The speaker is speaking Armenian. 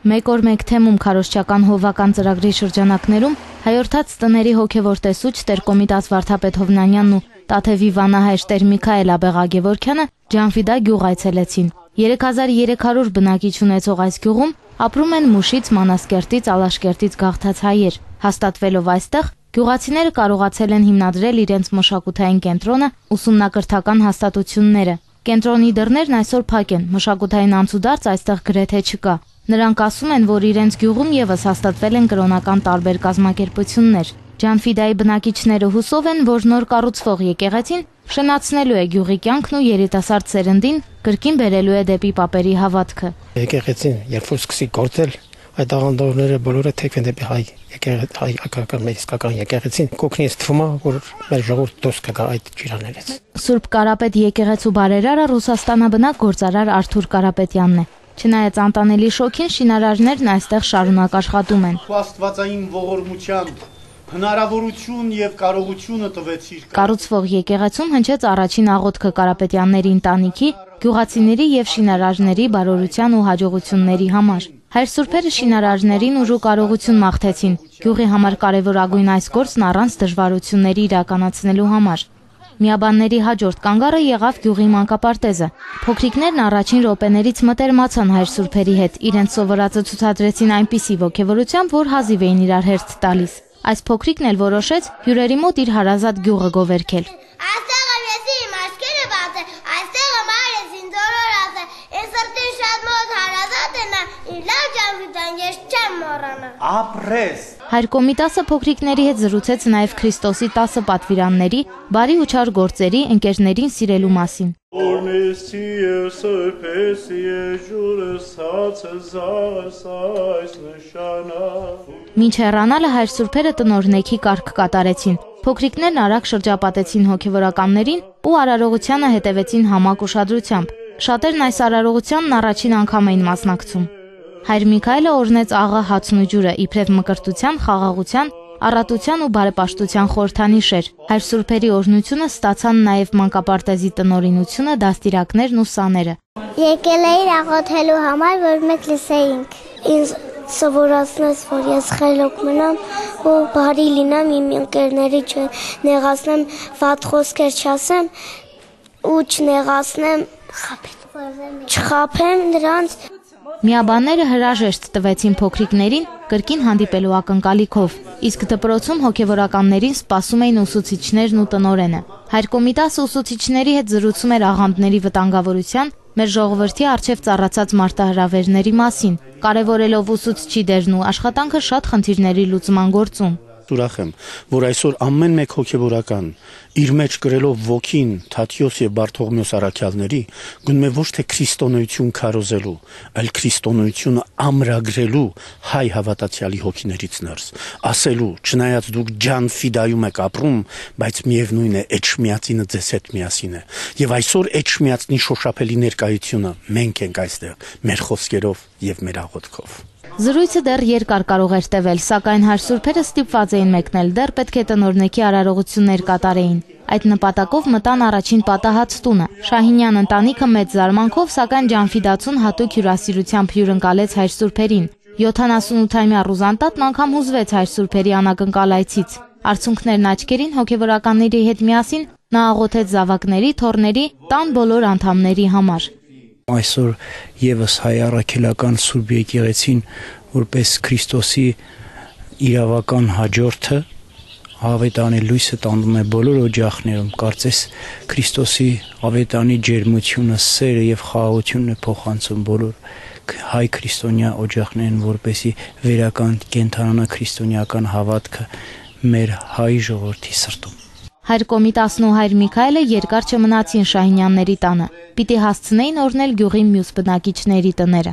Մեկ օր մեկ թեմում քարոզչական հովվական ծրագրի շրջանակներում հայորդաց տների հոգևոր տեսուչ Տեր Կոմիտաս Վարդապետ Հովնանյանն ու Տաթևի վանահայր Տեր Միքայել Աբեղա Գևորգյանը Ջանֆիդա գյուղ այցելեցին։ 3300 բնակիչ ունեցող այս գյուղում ապրում են Մուշից, Մանասկերտից, Ալաշկերտից գաղթած հայեր։ Հաստատվելով այստեղ գյուղացիները կարողացել են հիմնադրել իրենց մշակութային կենտրոնը, ուսումնակրթական հաստատությունները։ Կենտրոնի դռներն այսօր փակ են, մշակութային անցուդարձ այստեղ գրեթե չկա։ Նրանք ասում են, որ իրենց գյուղում եւս հաստատվել են կրոնական տարբեր կազմակերպություններ։ Ջանֆիդայի բնակիչները հուսով են, որ նոր կառուցվող եկեղեցին շնացնելու է գյուղի կյանքն ու երիտասարդ սերնդին կրկին բերելու է դեպի պապերի հավատքը։ Եկեղեցին երբ որ սկսի գործել, այդ աղանդավորները բոլորը թեքվեն դեպի հայ իսկական եկեղեցին, կօգնի թվում է, որ մեր ժողովուրդը դուրս կգա այդ ջրաներից։ Սուրբ Կարապետ եկեղեցու բարերարը Ռուսաստանաբնակ գործարար Արթուր Կարապետյանն է։ Չնայած անտանելի շոքին, շինարարներն այստեղ շարունակ աշխատում են։ Աստվածային ողորմությամբ հնարավորություն եւ կարողությունը տվեցիր։ Կառուցվող եկեղեցում հնչեց առաջին աղոթքը Կարապետյանների ընտանիքի, գյուղացիների եւ շինարարների բարօրության ու հաջողությունների համար։ Հայր սուրբերը շինարարներին ուժ ու կարողություն մաղթեցին գյուղի համար կարևորագույն այս գործն առանց դժվարությունների իրականացնելու համար։ Միաբանների հաջորդ կանգառը եղավ գյուղի մանկապարտեզը։ Փոքրիկներն առաջին րոպեներից մտերմացան հայր սուրբերի հետ, իրենց սովորածը ցուցադրեցին այնպիսի ոգևորությամբ, որ հազիվ էին իրար հերթ տալիս։ Այս փոքրիկն էլ որոշեց հյուրերի մոտ իր հարազատ գյուղը գովերքել։ Այստեղ ես իմ աչքերը բաց է, այստեղ մայրս ինձ օրորած է, ես սրտին շատ մոտ հարազատ է նա, իր լավ Ջանֆիդան ես չեմ մոռանա։ Ապրես։ Հայր Կոմիտասը փոքրիկների հետ զրուցեց նաև Քրիստոսի 10 պատվիրանների, բարի ու չար գործերի, ընկերներին սիրելու մասին։ Մինչ հեռանալը հայր սուրբերը տնօրնեքի կարգ կատարեցին։ Փոքրիկներն արագ շրջապատեցին հոգևորականներին ու արարողությանը հետևեցին համակ ուշադրությամբ։ Շատերն այս արարողությանն առաջին անգամ էին մասնակցում։ Հայր Միքայելը օրհնեց աղա հացն ու ջուրը իբրև մկրտության, խաղաղության, առատության ու բարեպաշտության խորհրդանիշ էր։ Հայր սուրբերի օրհնությունը ստացան նաև մանկապարտեզի տնօրինությունը, դաստիարակներն ու սաները։ Եկել էիր աղոթելու համար, որ մենք լսեինք։ Ինձ սովորացնես, որ ես խելոք մնամ ու բարի լինեմ, իմ ընկերների չնեղացնեմ, վատ խոսքեր չասեմ ու չնեղացնեմ, չխաբեմ նրանց։ Միաբանները հրաժեշտ տվեցին փոքրիկներին կրկին հանդիպելու ակնկալիքով, իսկ դպրոցում հոգևորականներին սպասում էին ուսուցիչներն ու տնօրենը։ Հայր Կոմիտասը ուսուցիչների հետ զրուցում էր աղանդների վտանգավորության, մեր ժողովրդի առջև ծառացած մարտահրավերների մասին, կարևորելով ուսուցչի դերն ու աշխատանքը շատ խնդիրների լուծման գործում։ Ուրախ եմ, որ այսօր ամեն մեկ հոգևորական իր մեջ գրելով ոգին Թադեոս եւ Բարթողմեոս առաքյալների գնում է ոչ թե քրիստոնեություն քարոզելու, այլ քրիստոնեությունը ամրագրելու հայ հավատացյալի հոգիներից ներս, ասելու, չնայած դուք Ջանֆիդայում եք ապրում, բայց միևնույն է Էջմիածինը ձեզ հետ միասին է։ Եվ այսօր Էջմիածնի շոշափելի ներկայությունը մենք ենք այստեղ մեր խոսքերով եւ մեր աղոթքով։ Զրույցը դեռ երկար կարող էր տևել, սակայն հայր սուրբերը ստիպված էին մեկնել, դեռ պետք է տնօրնեքի արարողություններ կատարեին։ Այդ նպատակով մտան առաջին պատահած տունը։ Շահինյան ընտանիքը մեծ զարմանքով, սակայն Ջանֆիդացուն հատուկ հյուրասիրությամբ հյուրընկալեց հայր սուրբերին։ 78-ամյա Ռուզանտատն անգամ հուզվեց հայր սուրբերի անակնկալ այցից։ Արցունքներն աչքերին հոգևորականների հետ միասին նա աղոթեց զավակների, թոռների, տան բոլոր անդամների համար։ Այսօր եւս հայ առաքելական Սուրբ եկեղեցին որպես Քրիստոսի իրավական հաջորդը ավետանի լույսը տանում է բոլոր օջախներում, կարծես Քրիստոսի ավետանի ջերմությունը, սերը եւ խաղաղությունն է փոխանցում բոլոր հայ քրիստոնյա օջախներին, որպեսի վերական կենթանանա քրիստոնեական հավատքը մեր հայ ժողովրդի սրտում։ Հայր Կոմիտասն ու հայր Միքայելը երկար չմնացին Շահինյանների տանը։ Պիտի հասցնեին օրհնել գյուղի մյուս բնակիչների տները։